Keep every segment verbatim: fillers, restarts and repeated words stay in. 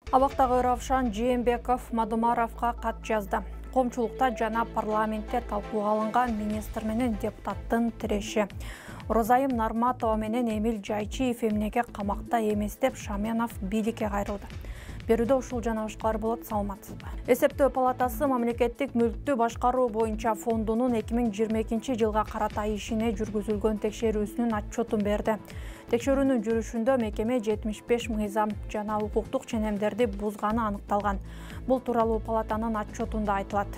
Абактагы Равшан Жээнбеков Мадумаровго кат жазды. Коомчулукта жана парламентте талкууга алынган министр менен депутаттын тиреши. Розайым Нарматова менен Эмил Жайчиев эмнеге камакта эмес деп Шаменов бийликке кайрылды. Берүүдө ушул жана башкалар болот, саламатсызбы? Эсептөө палатасы мамлекеттик мүлктү башкаруу боюнча фондунун эки миң жыйырма экинчи жылга карата ишине жүргүзүлгөн текшерүүсүнүн отчетун берди. Текшерүүнүн жүрүшүндө мекеме жетимиш беш мыйзам жана укуктук ченемдерди бузганы аныкталган. Бул тууралуу палатанын отчетунда айтылат.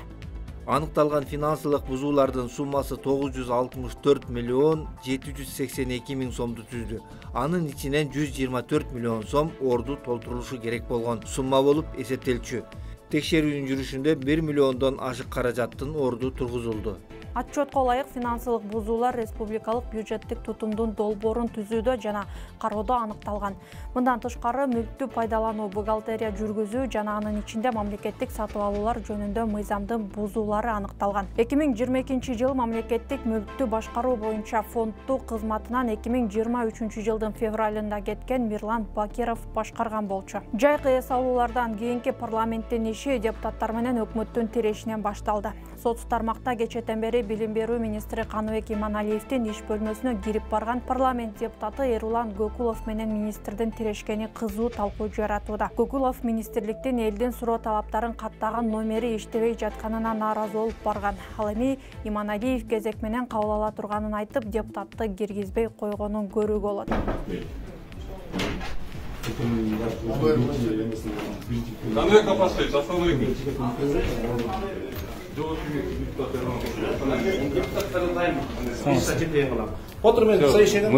Аныкталган финансылык бузуулардын суммасы тогуз жүз алтымыш төрт миллион жети жүз сексен эки миң сомду түздү. Анын ичинен жүз жыйырма төрт миллион сом орду толтурулушу керек болгон сумма болуп эсептелчү. Текшерүүнүн жүрүшүндө бир миллиондон ашык каражаттын орду тургузулду. Отчетко ылайык финансылык бузуулар республикалык бюджеттик тутумдун долбоорун түзүүдө жана кароодо аныкталган. Мындан тышкары мүлктү пайдалануу, бухгалтерия жүргүзүү жана анын ичинде мамлекеттик сатып алуулар жөнүндө мыйзамдын бузуулары аныкталган. эки миң жыйырма экинчи жыл мамлекеттик мүлктү башкаруу боюнча фондду кызматынан эки миң жыйырма үчүнчү жылдын февралында кеткен Мирлан Бакиров башкарган болчу. Жайкы эс алуулардан кийинки парламенттин иши депутаттар менен өкмөттүн тирешинен башталды. Сот тармакта кечэтен бери билим берүү министри Каныбек Иманалиевдин иш бөлмөсүнө кирип барган парламент депутаты Эрулан Гөкулов менен министрдин тирешкени кызуу талкуу жаратууда. Гөкулов министрликтин элдин суроо талаптарын каттаган номери иштебей жатканына нааразы болуп барган. Ал эми Иманалиев кезек менен кабыл ала турганын айтып, депутатты киргизбей койгонун көрүүгө болот.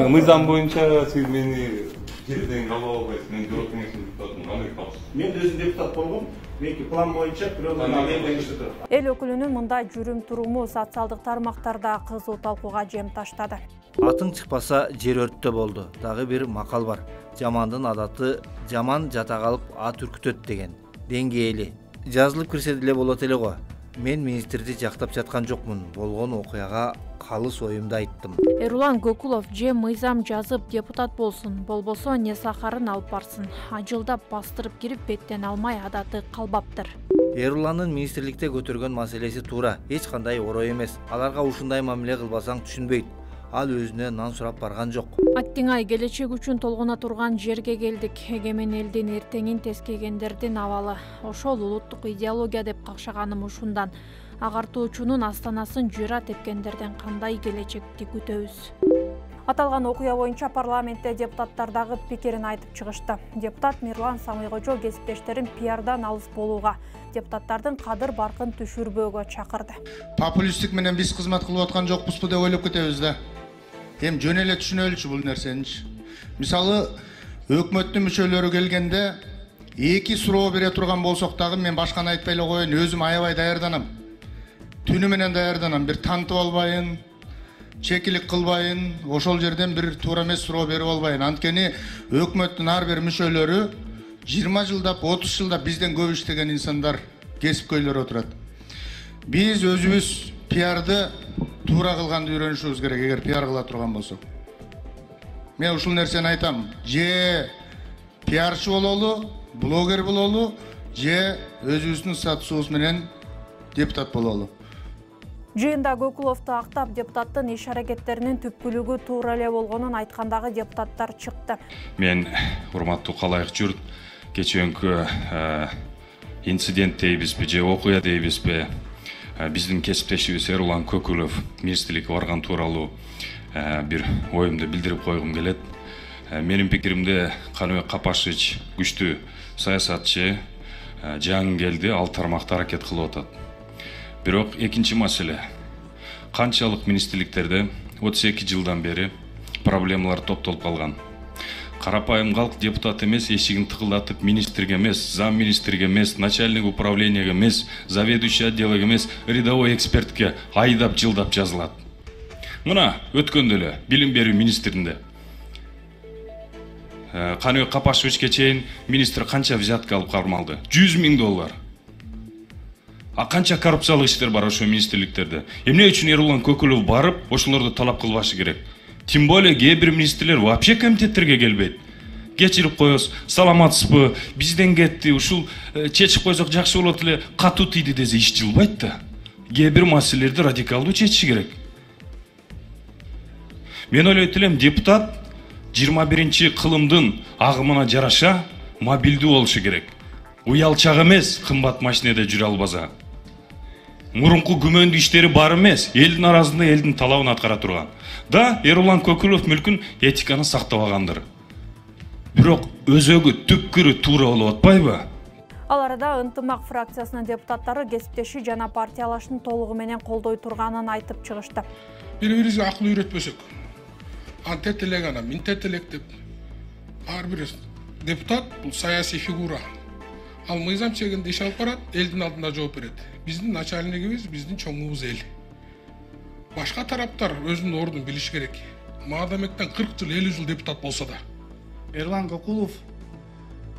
Мыйзам боюнча сиз мени жерден кабыл албайсыз. Мен жооп кеңештин депутатымын. Кандай кабылсыз? Мен өзүм депутат болгом. Меники план боюнча бирөөнүн элден иштеп турат. Эл өкүлүнүн мындай жүрүм туруму социалдык тармактарда кызуу талкууга жем таштады. Атың чыкпаса жер өрттө болду. Дагы бир макал бар. Жамандын адаты жаман жата калып ат үркүтөт деген. Деңгээли. Жазылып кирсе деле болот эле го. Мен министрди жактап жаткан жокмун. Болгон окуяга калыс оюмду айттым. Эрулан Гөкулов же мыйзам жазып депутат болсун, болбосо не сахарын алып барсын. Ажылдап бастырып кирип беттен алмай адаты калбаптыр. Эруландын министрликте көтөргөн маселеси туура, эч кандай орой эмес. Аларга ушундай мамиле кылбасаң түшүнбөйт. Ал өзүнө нан сурап барган жок. Аттиңай келечек үчүн толгоно турган жерге келдик. Эгемен элдин эртеңин тескегендердин абалы. Ошол улуттук идеология деп какшаганым ушундан. Агартуучунун астанасын жыра тепкендерден кандай келечекти күтөбүз? Аталган окуя боюнча парламентте депутаттар дагы пикирин айтып чыгышты. Депутат Мирлан Самыйкожо кесиптештерин пиардан алыс болууга, депутаттардын кадыр баркын түшүрбөөгө чакырды. Популисттик менен биз кызмат кылып аткан жокпузбу деп ойлоп кетебиз да. Эми жөн эле түшүнөлүчү бул нерсеничи. Мисалы, өкмөттүн мүчөлөрү келгенде эки суроо бере турган болсок дагы мен башканы айтпай эле коеюн, өзүм аябай даярданам. Түнү менен даярданам, бир тантып албайын, чекилик кылбайын, ошол жерден бир туура эмес суроо берип албайын. Анткени өкмөттүн ар бир мүчөлөрү жыйырма жылдап, отуз жылдап бизден көп иштеген инсандар, кесипкөйлөр отурат. Биз өзүбүз пиарды туура кылганды үйрөнүшүбүз керек, эгер пиар кыла турган болсок. Мен ушул нерсени айтам. Же пиарчы бололу, блогер бололу, же өзүбүздүн статусубуз менен депутат бололу. Жыйында Гөкуловду актап, депутаттын иш аракеттеринин түпкүлүгү туура эле болгонун айткандагы депутаттар чыкты. Мен урматтуу калайык журт, кечээнкү инцидент дейбизби же окуя дейбизби, биздин кесиптешибиз Эрулан Гөкулов министрликке барган тууралуу бир оюмду билдирип койгум келет. Менин пикиримде Каныбек Капашевич күчтүү саясатчы, жангелди ал тармакта аракет кылып атат. Бирок экинчи маселе, канчалык министрликтерде отуз эки жылдан бери проблемалар топтолуп калган. Карапайым калк депутат эмес, эшигин тыкылдатып министрге эмес, зам министрге эмес, начальник управлениеге эмес, заведующий отделге эмес, рядовой экспертке айдап жылдап жазылат. Мына өткөндө эле билим берүү министринде Каныбек Капашевичке чейин министр канча взятка алып кармалды? жүз миң доллар. А канча коррупциялык иштер бар ошо министрликтерде? Эмне үчүн Эрулан Гөкулов барып, ошолорду талап кылбашы керек? Тем более кээ бир министрлер вообще комитеттерге келбейт. кечирип коебуз, саламатсызбы, бизден кетти, ушул чечип койсок жакшы болот эле, катуу тийди десе иш жылбайт да. Кээ бир маселелерди радикалдуу чечиш керек. Мен ойлойт элем, депутат жыйырма биринчи кылымдын агымына жараша мобилдүү болушу керек. Уялчак эмес, кымбат машинеде жүрө албаса. Мурунку күмөндүү иштери бар эмес, элдин арасында элдин талабын аткара турган. Да, Эрулан Көкүлов мүлкүн этиканы сактабагандыр. Бирок өзөгү түпкүрү туура болуп атпайбы? Ал арада Ынтымак фракциясынын депутаттары кесиптеши жана партиялашын толугу менен колдой турганын айтып чыгышты. Бири-бирибизге акыл үйрөтпөсөк, антет элек анан минтет элек деп, ар бир депутат бул саясий фигура. Ал мыйзам чегинде иш алып барат, элдин алдында жооп берет. Биздин начальнигибиз, биздин чоңубуз эл. Башка тараптар өзүнүн ордун билиш керек. Маадамектен кырк жыл, элүү жыл депутат болсо да. Эрулан Көкүлов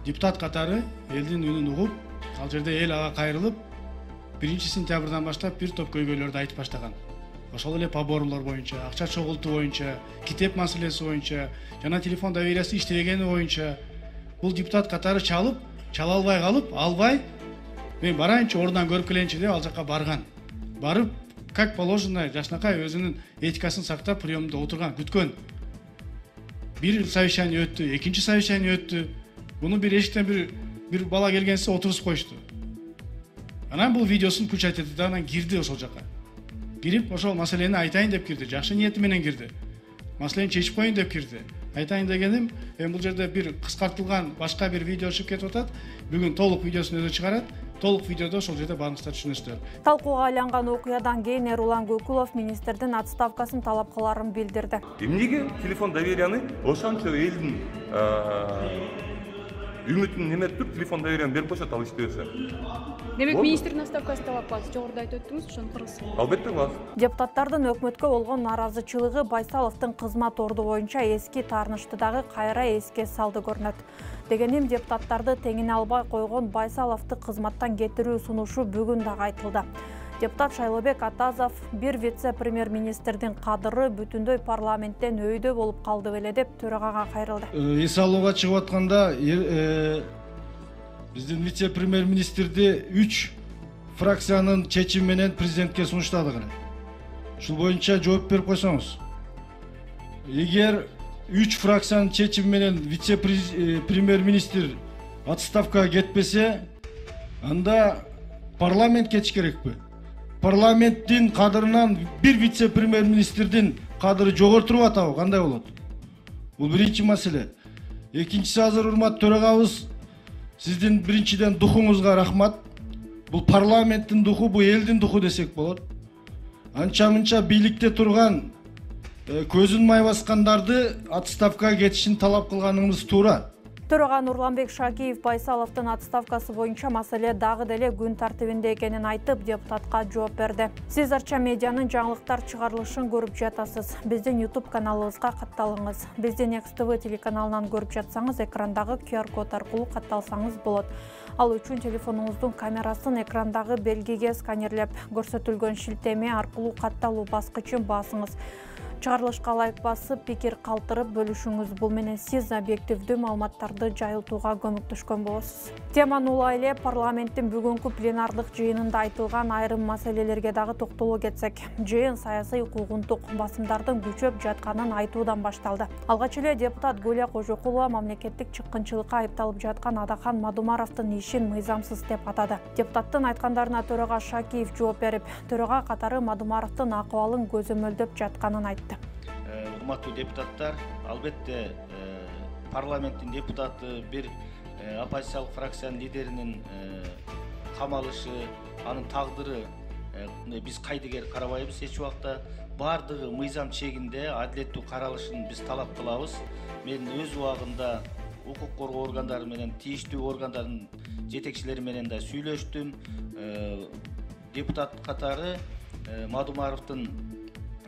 депутат катары элдин үнүн угуп, ал жерде эл ага кайрылып, биринчи сентябрдан баштап бир топ көйгөйлөрдү айтып баштаган. Ошол эле поборлор боюнча, акча чогултуу боюнча, китеп маселеси боюнча, жана телефон довериясы иштебегени боюнча бул депутат катары чалып, чала албай калып, албай, мен барайынчы ордунан көрүп келейинчи деп ал жака барган. Барып, как положено, жашнакай өзүнүн этикасын сактап приемда отурган, күткөн. Бир совещание өттү, экинчи совещание өттү. Буну бир эшиктен бир бир бала келгенсе отурусуп коюшту. Анан бул видеосун печать этти да, анан кирди ошол жака. Кирип, ошол маселени айтайын деп кирди, жакшы ниети менен кирди. Маселени чечип коеюн деп кирди. Айтайын дегеним, эми бул жерде бир кыскартылган башка бир видео чыгып кетип атат. Бүгүн толук видеосун өзү чыгарат. Толук видеодо ошол жерде баарыңыздар түшүнөсүздөр. Талкууга айланган окуядан кийин Эрулан Көкүлов министрдин отставкасын талап кыларын билдирди. Эмнеге телефон доверияны ошончо элдин үмүтүн неметип туруп телефон доверияны берип коюшат, ал иштебесе. Демек министрдин отставкасын талап кыласыз, жогоруда айтып өттүңүз, ошону кыргызсыз. Албетте кыласыз. Депутаттардын өкмөткө болгон наразычылыгы Байсаловдун кызмат орду боюнча эски таарынышты дагы кайра эске салды көрүнөт. Дегеним, депутаттарды теңине албай койгон Байсаловду кызматтан кетирүү сунушу бүгүн дагы айтылды. Депутат Шайлообек Атазов бир вице-премьер-министрдин кадыры бүтүндөй парламенттен өйдө болуп калды беле деп төрагага кайрылды. Эс алууга чыгып атканда биздин вице-премьер-министрди үч фракциянын чечими менен президентке сунуштадык. Ушул боюнча жооп берип койсоңуз. Эгер үч фракциянын чечими менен вице-премьер-министр отставкага кетпесе, анда парламент кетиш керекпи? Парламенттин кадырынан бир вице-премьер-министрдин кадыры жогортуруп атабы, кандай болот? Бул биринчи маселе. Экинчиси, азыр урматтуу төрагабыз, сиздин биринчиден духуңузга рахмат. Бул парламенттин духу, бул элдин духу десек болот. Анча-мынча бийликте турган көзүн май баскандарды отставкага кетишин талап кылганыңыз туура. Төрага Нурланбек Шакиев Байсаловдун отставкасы боюнча маселе дагы деле күн тартибинде экенин айтып, депутатка жооп берди. Сиз Арча медианын жаңылыктар чыгарылышын көрүп жатасыз. Биздин YouTube каналыбызга катталыңыз. Биздин Экс Тэ Вэ телеканалынан көрүп жатсаңыз, экрандагы ку ар код аркылуу катталсаңыз болот. Ал үчүн телефонуңуздун камерасын экрандагы белгиге сканерлеп, көрсөтүлгөн шилтеме аркылуу катталуу баскычын басыңыз. Чыгарылышка лайк басып, пикир калтырып бөлүшүңүз. Бул менен сиз объективдүү маалыматтарды жайылтууга көмөктөшкөн болосуз. Теманы улай эле парламенттин бүгүнкү пленардык жыйынында айтылган айрым маселелерге дагы токтоло кетсек. Жыйын саясий укугунтук басымдардын күчөп жатканын айтуудан башталды. Алгач эле депутат Гүлия Кожокулова мамлекеттик чыккынчылыкка айыпталып жаткан Адахан Мадумаровдун ишин мыйзамсыз деп атады. Депутаттын айткандарына төрага Шакиев жооп берип, төрага катары Мадумаровдун акыбалын көзөмөлдөп жатканын айтты. Урматтуу депутаттар, албетте парламенттин депутаты бир оппозициялык фракциянын лидеринин камалышы, анын тагдыры биз кайдыгер карабайбыз эч убакта. Бардыгы мыйзам чегинде адилеттүү каралышын биз талап кылабыз. Мен өз убагында укук коргоо органдары менен, тийиштүү органдардын жетекчилери менен да сүйлөштүм. Депутат катары Мадумаровдун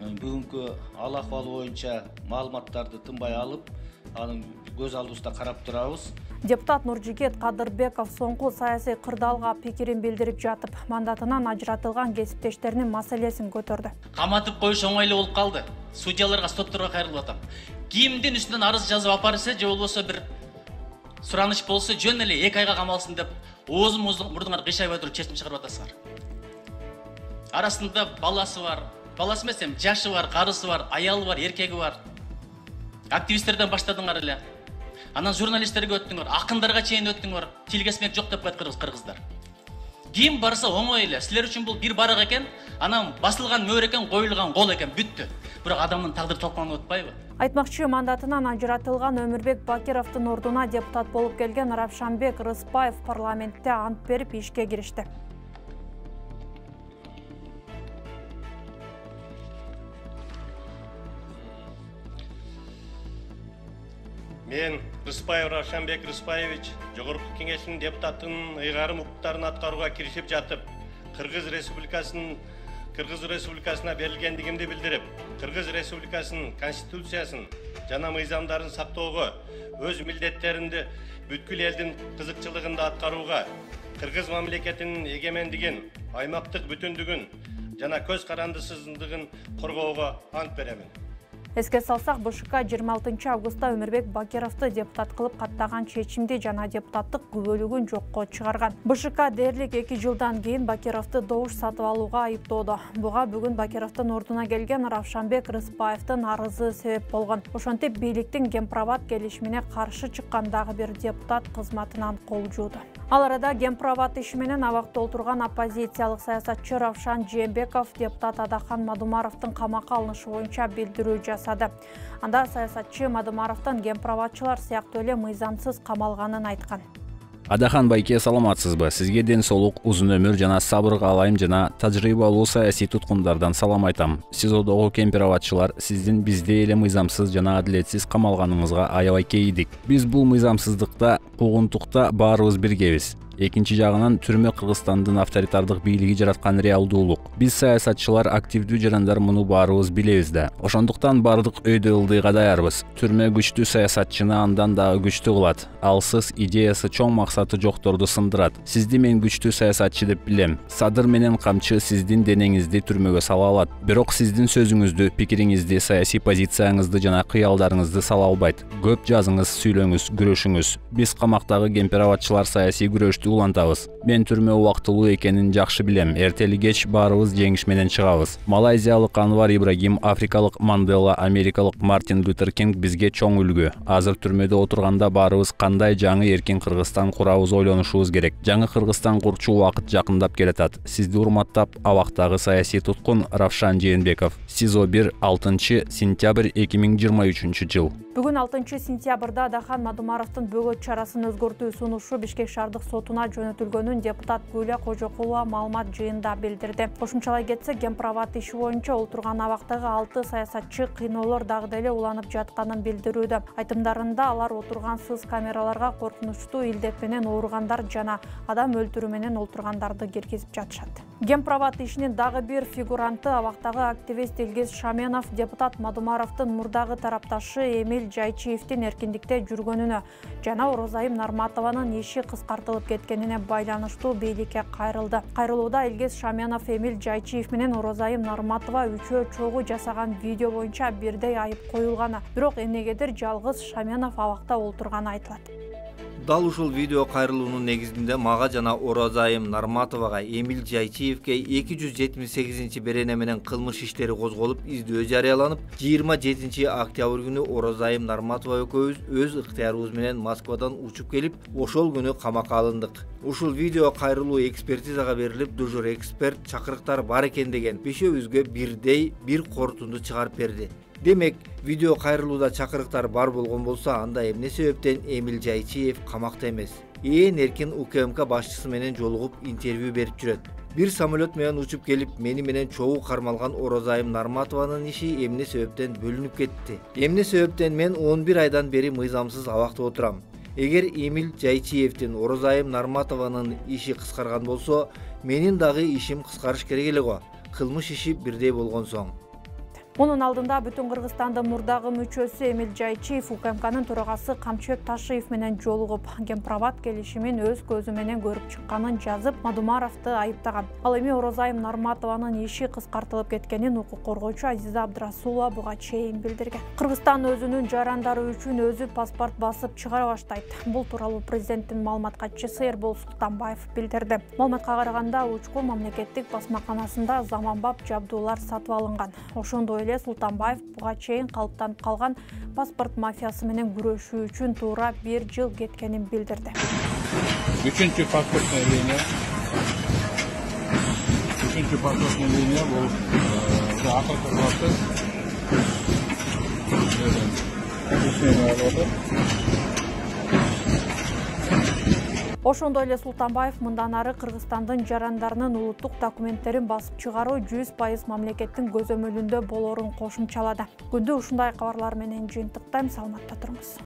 бүгүнкү ал акыбалы боюнча маалыматтарды тынбай алып, анын көз алдыбызда карап турабыз. Депутат Нуржигет Кадырбеков соңку саясий кырдаалга пикирин билдирип жатып, мандатынан ажыратылган кесиптештеринин маселесин көтөрдү. Каматып коюш оңойлуу болуп калды. Судьяларга, стопторго кайрылып атам. Кимдин үстүнөн арыз жазып апарса, же болбосо бир сураныч болсо жөн эле эки айга камалсын деп оозун мурдуңар кыйшайбай туруп чечим чыгарып атасыңар. Арасында баласы бар, баласы эмес эми жашы бар, карысы бар, аялы бар, эркеги бар. Активисттерден баштадыңар эле. Анан журналисттерге өттүңөр, акындарга чейин өттүңөр. Тил кесмек жок деп коет кыргыздар. Ким барса оңой эле. Силер үчүн бул бир барак экен, анан басылган мөөр экен, коюлган кол экен, бүттү. Бирок адамдын тагдыры талкаланып атпайбы? Айтмакчы, мандатынан ажыратылган Өмүрбек Бакировдун ордуна депутат болуп келген Равшанбек Рыспаев парламентте ант берип ишке киришти. Мен Рыспаев Равшанбек Рыспаевич Жогорку Кеңештин депутатынын ыйгарым укуктарын аткарууга киришип жатып, Кыргыз Республикасынын Кыргыз Республикасына берилгендигимди билдирип, Кыргыз Республикасынын Конституциясын жана мыйзамдарын сактоого, өз милдеттеринди бүткүл элдин кызыкчылыгында аткарууга, Кыргыз мамлекетинин эгемендигин, аймактык бүтүндүгүн жана көз карандысыздыгын коргоого ант беремин. Эске салсак, БШК жыйырма алтынчы августта Өмүрбек Бакировду депутат кылып каттаган чечимди жана депутаттык күбөлүгүн жокко чыгарган. БШК дээрлик эки жылдан кийин Бакировду добуш сатып алууга айыптоодо. Буга бүгүн Бакировдун ордуна келген Равшанбек Рыспаевдин арызы себеп болгон. Ошентип бийликтин Гемпроват келишимине каршы чыккан дагы бир депутат кызматынан кол жууду. Ал арада Гемпроват иши менен абакта отурган оппозициялык саясатчы Равшан Жээнбеков депутат Адахан Мадумаровдун камакка алынышы боюнча билдирүү жасады. Анда саясатчы Мадумаровдун Гемпроватчылар сыяктуу эле мыйзамсыз камалганын айткан. Адахан байке, саламатсызбы? Сизге ден соолук, узун өмүр жана сабыр каалайм жана тажрыйбалуу саясий туткундардан салам айтам. Сизодогу Гемпроватчылар сиздин биздей эле мыйзамсыз жана адилетсиз камалганыңызга аябай кейидик. Биз бул мыйзамсыздыкта, куугунтукта баарыбыз биргебиз. Экинчи жагынан түрмө Кыргызстандын авторитардык бийлиги жараткан реалдуулук. Биз саясатчылар, активдүү жарандар муну баарыбыз билебиз да. Ошондуктан бардык өйдө ылдыйга даярбыз. Түрмө күчтүү саясатчыны андан дагы күчтүү кылат. Алсыз идеясы чоң максаты жокторду сындырат. Сизди мен күчтүү саясатчы деп билем. Садыр менен камчы сиздин денеңизди түрмөгө сала алат. Бирок сиздин сөзүңүздү, пикириңизди, саясий позицияңызды жана кыялдарыңызды сала албайт. Көп жазыңыз, сүйлөңүз, күрөшүңүз. Биз камактагы Гемпроватчылар саясий күрөштү улантабыз. Мен түрмө убактылуу экенин жакшы билем. Эртели кеч баарыбыз жеңиш менен чыгабыз. Малайзиялык Анвар Ибрагим, африкалык Мандела, америкалык Мартин Лютер Кинг бизге чоң үлгү. Азыр түрмөдө отурганда баарыбыз кандай жаңы эркин Кыргызстан курабыз ойлонушубуз керек. Жаңы Кыргызстан курчу убакыт жакындап келатат. Сизди урматтап, абактагы саясий туткун Равшан Жээнбеков. СИЗО бир, алтынчы сентябрь эки миң жыйырма үчүнчү жыл. Бүгүн алтынчы сентябрда Адахан Мадумаровдун бөгөт чарасын өзгөртүү сунушу Бишкек шаардык сотуна жөнөтүлгөнүн депутат Гүлө Кожокулова маалымат жыйында билдирди. Кошумчалай кетсек, Гемпроват иши боюнча отурган абактагы алты саясатчы кыйноолор дагы деле уланып жатканын билдирүүдө. Айтымдарында алар отурган сыз камераларга коркунучтуу илдет менен ооругандар жана адам өлтүрүү менен олтургандарды киргизип жатышат. Гемпроват ишинин дагы бир фигуранты абактагы активист Илгиз Шаменов депутат Мадумаровдун мурдагы тарапташы Эмиль Жайчиевдин эркиндикте жүргөнүнө жана Орозайым Нарматованын иши кыскартылып кеткенине байланыштуу бийликке кайрылды. Кайрылууда Илгиз Шаменов, Эмиль Жайчиев менен Орозайым Нарматова үчөө чогуу жасаган видео боюнча бирдей айып коюлганы, бирок эмнегедир жалгыз Шаменов абакта олтурганы айтылат. Дал ушул видео кайрылуунун негизинде мага жана Орозайым Нарматовага, Эмиль Жайчиевке эки жүз жетимиш сегизинчи берене менен кылмыш иштери козголуп, издөө жарыяланып, жыйырма жетинчи октябрь күнү Орозайым Нарматова экөөбүз өз ыктыярыбыз менен Москвадан учуп келип, ошол күнү камакка алындык. Ушул видео кайрылуу экспертизага берилип, дежур эксперт чакырыктар бар экен деген бешөөбүзгө бирдей бир корутунду чыгарып берди. Демек, видео кайрылууда чакырыктар бар болгон болсо, анда эмне себептен Эмиль Жайчиев камакта эмес? Ээн эркин УКМК башчысы менен жолугуп интервью берип жүрөт. Бир самолет менен учуп келип, мени менен чогуу кармалган Орозайым Нарматованын иши эмне себептен бөлүнүп кетти? Эмне себептен мен он бир айдан бери мыйзамсыз абакта отурам? Эгер Эмиль Жайчиевдин Орозайым Нарматованын иши кыскарган болсо, менин дагы ишим кыскарыш керек эле го. Кылмыш иши бирдей болгон соң. Мунун алдында бүтүн Кыргызстандын мурдагы мүчөсү Эмил Жайчиев УКМКнын төрагасы Камчыбек Ташиев менен жолугуп, Гемпробат келишимин өз көзү менен көрүп чыкканын жазып, Мадумаровду айыптаган. Ал эми Орозайым Нарматованын иши кыскартылып кеткенин укук коргоочу Азиза Абдрасулова буга чейин билдирген. Кыргызстан өзүнүн жарандары үчүн өзү паспорт басып чыгара баштайт. Бул тууралуу президенттин маалымат катчысы Эрбол Султанбаев билдирди. Маалыматка караганда учкул мамлекеттик басмаканасында заманбап жабдуулар сатып алынган. Ошондой эле Султанбаев буга чейин калыптанып калган паспорт мафиясы менен күрөшүү үчүн туура бир жыл кеткенин билдирди. Үчүнчү паспортный линия. Үчүнчү паспортный линия бул акыркы процесс. Ошондой эле Султанбаев мындан ары Кыргызстандын жарандарынын улуттук документтерин басып чыгаруу жүз пайыз мамлекеттин көзөмөлүндө болорун кошумчалады. Күндү ушундай кабарлар менен жыйынтыктайм. Саламатта туруңуз.